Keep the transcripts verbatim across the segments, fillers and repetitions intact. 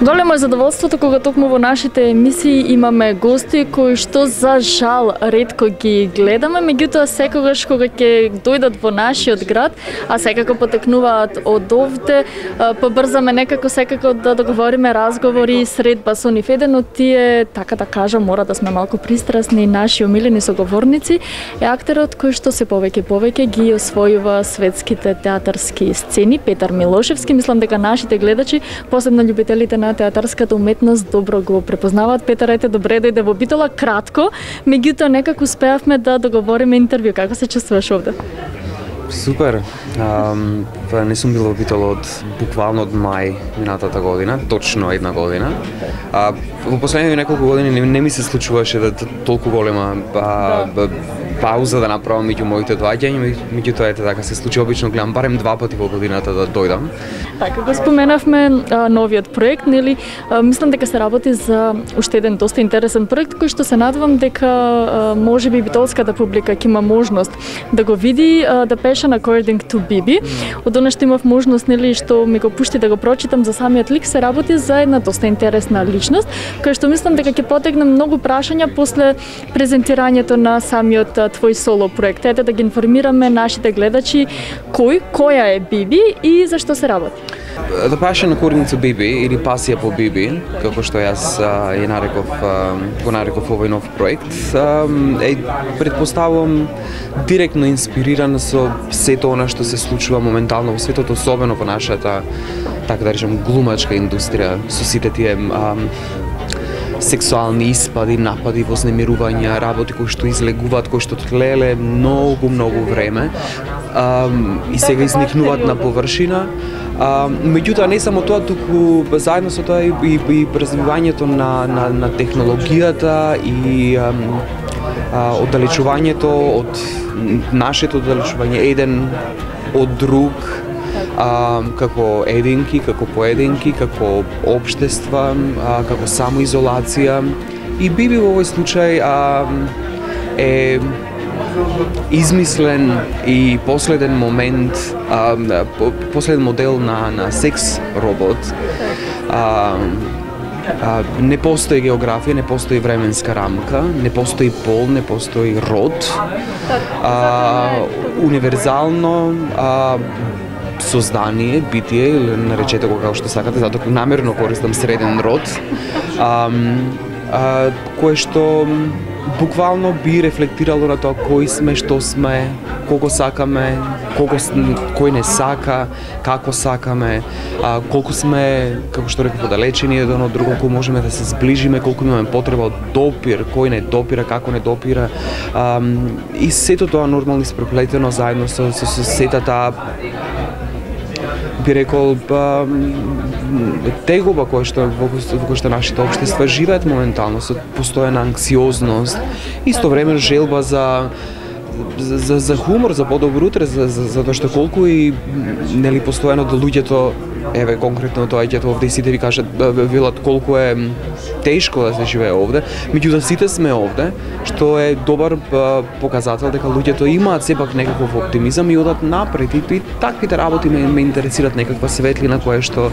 Големо е задоволството кога токму во нашите емисии имаме гости кои што за жал ретко ги гледаме, меѓутоа секогаш кога ќе дојдат во нашиот град, а секако потекнуваат од овде, побрзаме некако секако да договориме разговори средба со нив. Еден од тие, така да кажам, мора да сме малку пристрасни, наши омилени соговорници е актерот кој што се повеќе повеќе ги освојува светските театарски сцени, Петар Милошевски. Мислам дека нашите гледачи, посебно љубителите на театарската уметност, добро го препознаваат. Петар, ете, добре дојде во Битола, кратко, меѓутоа некако успеавме да договориме интервју. Како се чувствуваш овде? Супер. Um, не сум бил во Битола од буквално од мај минатата година, точно една година. А, во последните неколку години не, не ми се случуваше да толку голема а, да. пауза да направам меѓу моите доаѓања, меѓутоа ете така се случи, обично гледам барем два пати во годината да дојдам. Така, го споменавме а, новиот проект, нели? А, мислам дека се работи за уште еден доста интересен проект кој што се надевам дека а, можеби битолската публика ќе има можност да го види, а, да Passion According to Биби. Од она што имав можност, нели, што ми го пушти да го прочитам за самиот лик, се работи за една доста интересна личност, која што мислам дека ќе потегне многу прашања после презентирањето на самиот твој соло проект. Ете да ги информираме нашите гледачи кој, која е Биби и за што се работи. The Passion According to Биби, или Пасија по Биби, како што јас ја нареков, го нареков овој нов проект, е, предпоставувам, директно инспириран со сето она што се случува моментално во светот, особено во нашата, така да речем, глумачка индустрија, со сите тие ам, сексуални испади, напади, вознемирувања, работи кои што излегуваат, кои што тлеле многу, многу време ам, и сега изникнуваат на површина. А, меѓутоа не само тоа, туку заедно со тоа и, и, и развивањето на, на, на технологијата и ам, а, оддалечувањето од нашето оддалечување еден од друг, а, како единки, како поединки, како општества, а, како самоизолација. И Биби во овој случај а, е измислен и последен момент, а, последен модел на, на секс робот. А, а, не постои географија, не постои временска рамка, не постои пол, не постои род. А, универзално а, создание, битие, или наречете го како што сакате, затоа намерно користам среден род, а, а, кое што буквално би рефлектирало на тоа кои сме, што сме, колку сакаме, колку кој не сака, како сакаме, а, колку сме, како што реков, оддалечени еден од друго, колку можеме да се сближиме, колку имаме потреба од допир, кој не допира, како не допира. А, и сето тоа нормално испреплетено заедно со, со, со сета таа, би рекол, па, тегоба која што во која што нашите општества живеат моментално, со постојана анксиозност, истовремено желба за за, за, за хумор, за подобро утре, за, за, за тоа што колку и нели постојано да луѓето, еве конкретно доаѓаат овде и сите ви кажат, велат колку е тешко да се живее овде, меѓутоа сите сме овде, што е добар показател дека луѓето имаат сепак некаков оптимизам и одат напред. И, и таквите работи ме, ме интересират, некаква светлина која што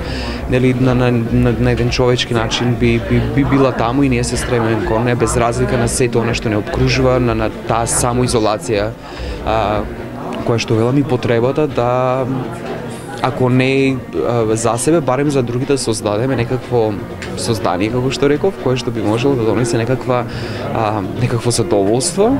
нели на, на, на, на еден човечки начин би, би, би била таму и ние се стремиме кон неа, без разлика на сето она што не обкружува, на, на таа самоизолација, а, која што велам и потребата да, ако не а, за себе, барем за другите создадеме некакво создание, како што реков, кое што би можело да донесе некаква а, некакво задоволство,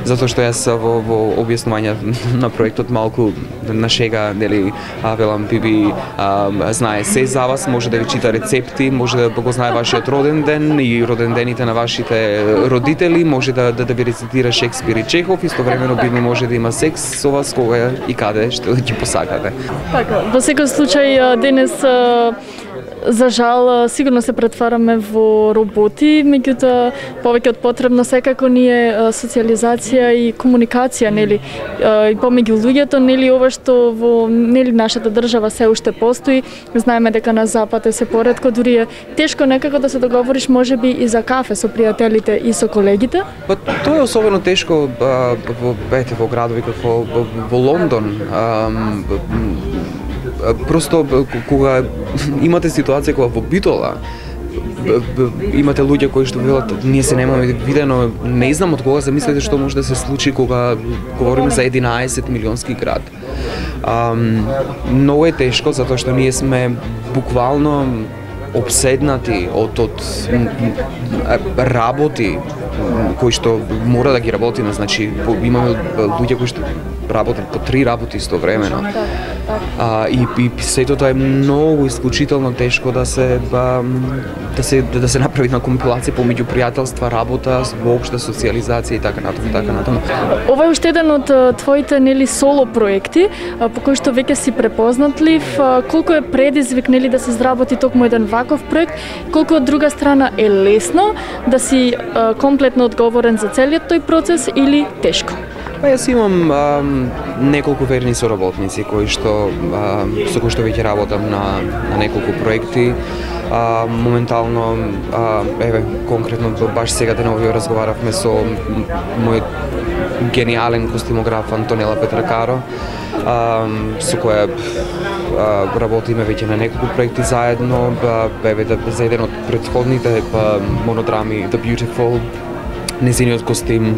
затоа што јас во, во објаснување на проектот малку на шега, нели, а, велам, Биби а, знае се за вас, може да ви чита рецепти, може да го знае вашиот роден ден и роден дените на вашите родители, може да да, да ви рецитира Шекспир и Чехов, истовремено Биби може да има секс со вас кога и каде што ќе посакате. Така, во секој случај денес за жал сигурно се претвараме во роботи, меѓутоа повеќе од потребно секако ни е социализација и комуникација, нели, и помеѓу луѓето, нели, ова што во нели нашата држава се уште постои. Знаеме дека на запад е се поретко, дури е тешко некако да се договориш можеби и за кафе со пријателите и со колегите. Па тоа е особено тешко во ете во градови како во Лондон. просто кога имате ситуација кога во Битола имате луѓе кои што велат ние се немаме видено, не знам од кога замислите што може да се случи кога говориме за единаесет милионски град. Um, многу е тешко затоа што ние сме буквално обседнати од од работи кои што мора да ги работиме, значи имаме луѓе кои што работат по три работи истовремено. А, и, и сето тоа е многу исклучително тешко да се ба, да се да се направи на компилација помеѓу пријателства, работа, воопшта социјализација и така натаму, така натаму. Ова е уште еден од твоите нели соло проекти по кои што веќе си препознатлив. Колку е предизвик нели да се изработи токму еден ваков проект, колку од друга страна е лесно да си а, комплетно одговорен за целиот тој процес или тешко? Па јас имам а, неколку верни соработници кои што а, со кои што веќе работам на, на неколку проекти. А, моментално, а, еве, конкретно баш сега денови разговаравме со мој гениален костимограф Антонела Петракаро, а, со која а, работиме веќе на неколку проекти заедно. Еве, да, за еден од претходните монодрами The Beautiful, незиниот костим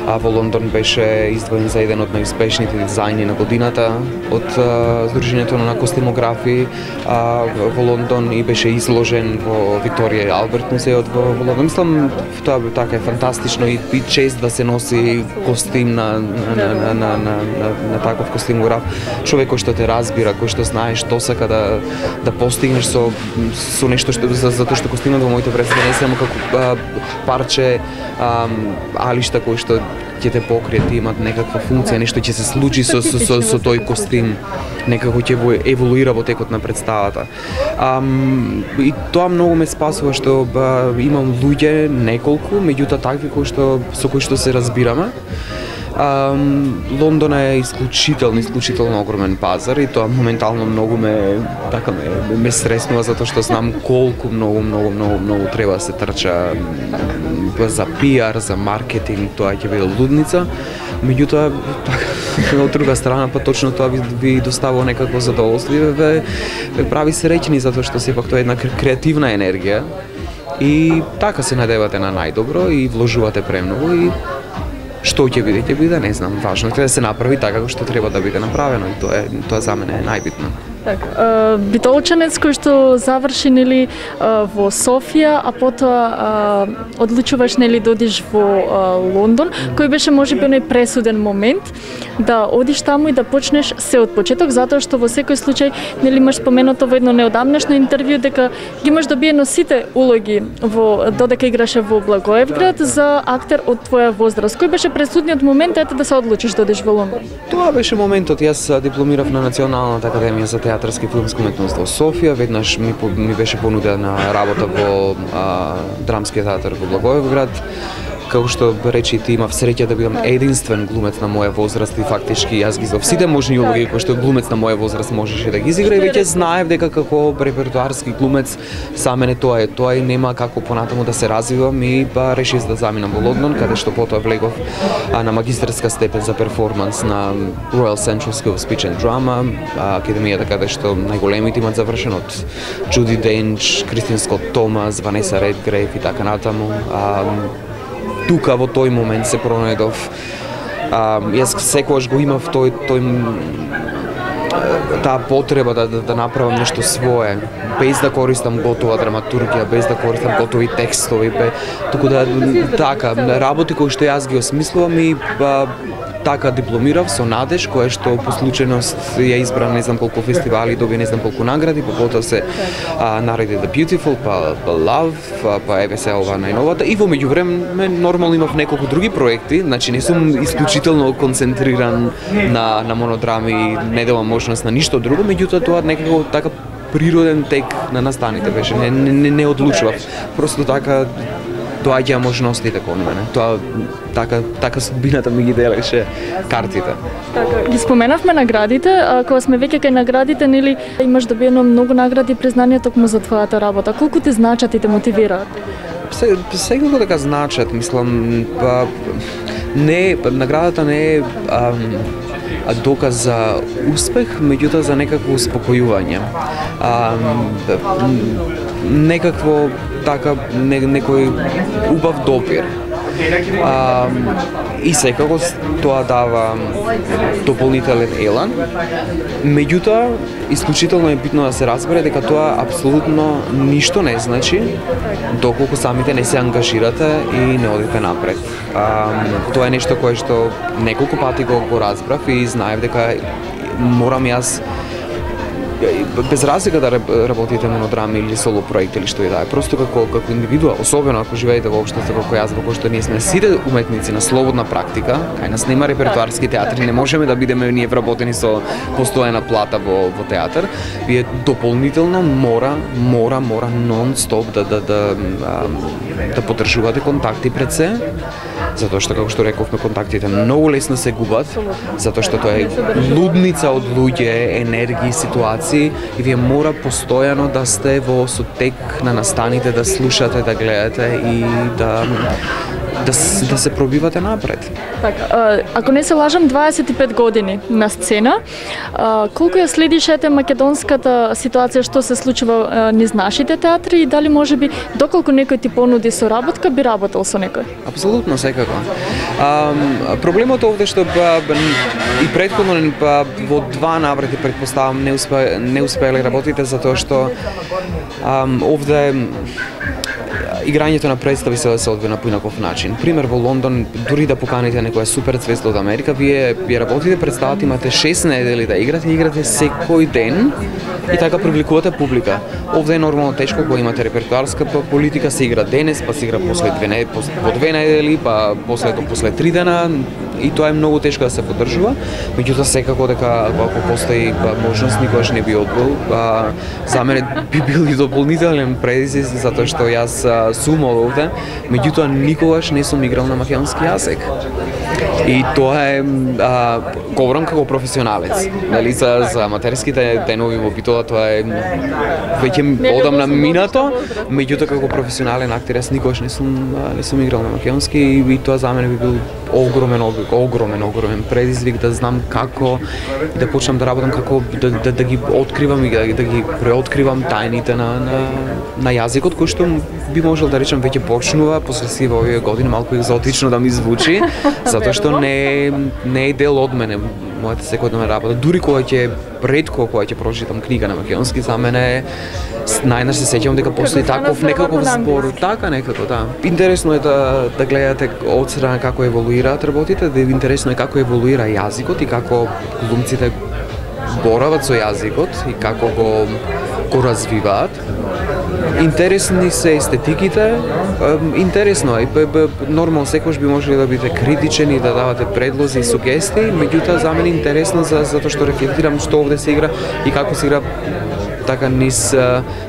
а, во Лондон беше издвоен за еден од најуспешните дизајни на годината од а, Сдруженијето на костимографи а, во Лондон и беше изложен во Викторија и Алберт музеот во, во Лондон. Мислам, тоа така е фантастично и, и чест да се носи костим на, на, на, на, на, на, на, на таков костимограф. Човек кој што те разбира, кој што знае што сака да, да постигнеш со, со нешто што, за, затоа што костимот во моите представи не е само како а, парче а, алишта кои што ќе те покријат, имат некаква функција, нешто ќе се случи со, со, со, со тој костим, некако ќе еволуира во текот на представата. Um, и тоа многу ме спасува што ба, имам луѓе, неколку, меѓутоа такви кои што, со кои што се разбираме. Um, Лондон е исклучително, исклучително огромен пазар и тоа моментално многу ме така ме, ме стреснува затоа што знам колку многу многу многу многу треба да се трча за пиар, за маркетинг, тоа ќе биде лудница. Меѓутоа, така, од друга страна, па точно тоа ви, ви доставува некакво задоволство и ве, ве прави среќни затоа што сепак тоа е една креативна енергија и така се надевате на најдобро и вложувате премногу и што ќе биде, ќе биде, не знам, важно е да се направи така како што треба да биде направено и тоа е тоа за мене е најбитно. Така, битолчанец кој што заврши нели во Софија, а потоа одлучуваш нели да одиш во Лондон, кој беше можеби оној пресуден момент да одиш таму и да почнеш се од почеток, затоа што во секој случај нели имаш споменато во едно неодамнешно интервју дека ги имаш добиено сите улоги во додека играше во Благоевград за актер од твоја возраст. Кој беше пресудниот момент ете да се одлучиш да одиш во Лондон? Тоа беше моментот. Јас дипломирав на Националната академија за театарска и филмска уметност во Софија. Веднаш ми, ми беше понудена работа во а, драмскиот театар во Благоевград. Како што речи ти, имав среќа да бидам единствен глумец на моја возраст и фактички јас ги знав сите можни улоги кои што глумец на моја возраст можеше да ги изигра и веќе знаев дека како репертуарски глумец за мене тоа е тоа и нема како понатаму да се развивам и па решив да заминам во Лондон, каде што потоа влегов а, на магистерска степен за перформанс на Royal Central School of Speech and Drama, академијата каде што најголемите имат завршен од Джуди Денч, Кристин Скот Томас, Ванеса Редгрейв и така натаму. А, тука во тој момент се пронајдов. А, јас секогаш го имав тој тој таа потреба да, да да направам нешто свое, без да користам готова драматургија, без да користам готови текстови, бе, туку да така работи кои што јас ги осмислувам и ба, така дипломирав со надеж, која што по случајност ја избран не знам колку фестивали, доби не знам колку награди, па потоа се а, нареди The Beautiful, па, па Love, па, па еве се ова најновата и во меѓувреме нормално имав неколку други проекти, значи не сум исклучително концентриран на на монодрами, не давам можност на ништо друго, меѓутоа тоа некако така природен тек на настаните беше, не не, не одлучував, просто така доаѓаа можностите кон мене. Тоа така така судбината ми ги делеше картите. Така, ги споменавме наградите, а кога сме веќе кај наградите, нели имаш добиено многу награди и признанија токму за твојата работа. Колку ти значат и те мотивираат? Се секако така значат, мислам, па не наградата не е ам, доказ за успех, меѓутоа за некакво успокојување. А, некакво така не, некој убав допир. А, и секако тоа дава дополнителен елан. Меѓутоа, исклучително е битно да се разбере дека тоа апсолутно ништо не значи доколку самите не се ангажирате и не одите напред. А, тоа е нешто кое што неколку пати го, го разбрав и знаев дека морам јас без разлика да работите монодрами или соло проект или што и да е, просто како како индивидуа, особено ако живеете во општество како јас, во кој што ние сме сите уметници на слободна практика, кај нас нема репертоарски театри, не можеме да бидеме ние вработени со постојана плата во во театар, вие дополнително мора мора мора нон-стоп да да да да поддржувате контакти пред се, затоа што како што рековме контактите многу лесно се губат, затоа што тоа е лудница од луѓе, енергии, ситуации и вие мора постојано да сте во сотек на настаните, да слушате, да гледате и да да, да се пробивате напред. Така, ако не се лажам, дваесет и пет години на сцена. Колку ја следиш ете македонската ситуација што се случува низ нашите театри и дали можеби доколку некој ти понуди соработка би работел со некој? Апсолутно, секако. А, проблемот овде што ба, и претходно ба, во два наврати претпоставам не успе, не успеале работите затоа што а, овде играњето на представи се се одвива на поинаков начин. Пример во Лондон, дури да поканите некоја супер звезда од Америка, вие вие работите представата, имате шест недели да играте, играте секој ден и така привлекувате публика. Овде е нормално тешко кога имате репертоарска политика, се игра денес, па се игра после две недели, по две недели, па после после три дена и тоа е многу тешко да се поддржува. Меѓутоа секако дека ако постои можност никогаш не би одбил. За мене би бил и дополнителен предизвик затоа што јас сум од овде, меѓутоа никогаш не сум играл на македонски јазик. И тоа е, а, говорам како професионалец, нали, за, за аматерските денови во Битола, тоа е веќе одамна минато, меѓутоа како професионален актер јас никогаш не сум не сум играл на македонски и, и тоа за мене би бил огромен, огромен, огромен предизвик да знам како да почнам да работам, како да, да, да ги откривам и да, да ги преоткривам тајните на, на, на јазикот, кој што би можел да речам веќе почнува после сива овие години малку екзотично да ми звучи, затоа што не е, не е дел од мене мојата секојдневна работа. Дури кога ќе ретко кога ќе прочитам книга на македонски, за мене најнаш се сеќавам дека постои таков некаков збор, така некако, да. Интересно е да да гледате од страна како еволуираат работите, да интересно е како еволуира јазикот и како глумците борават со јазикот и како го го развиваат. Интересни се естетиките, интересно е, нормално секојаш би можеле да бидете критичен и да давате предлози и сугестии, меѓутоа за мене интересно за затоа што рефлектирам што овде се игра и како се игра така низ,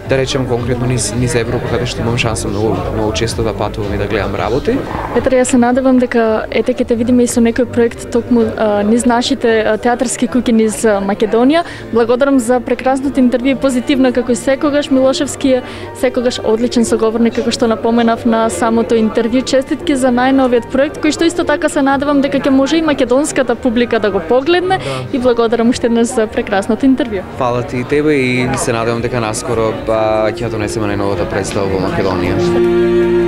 да речем конкретно низ, низ Европа, каде што имам шанса многу, многу често да патувам и да гледам работи. Петар, јас се надевам дека ете ќе те видиме и со некој проект токму а, низ нашите театарски куќи низ Македонија. Благодарам за прекрасното интервју, позитивно како и секогаш. Милошевски е секогаш одличен соговорник, како што напоменав на самото интервју. Честитки за најновиот проект, кој што исто така се надевам дека ќе може и македонската публика да го погледне, да. И благодарам уште еднаш за прекрасното интервју. Фала ти и тебе и се надевам дека наскоро па ќе донесеме најновата представа во Македонија.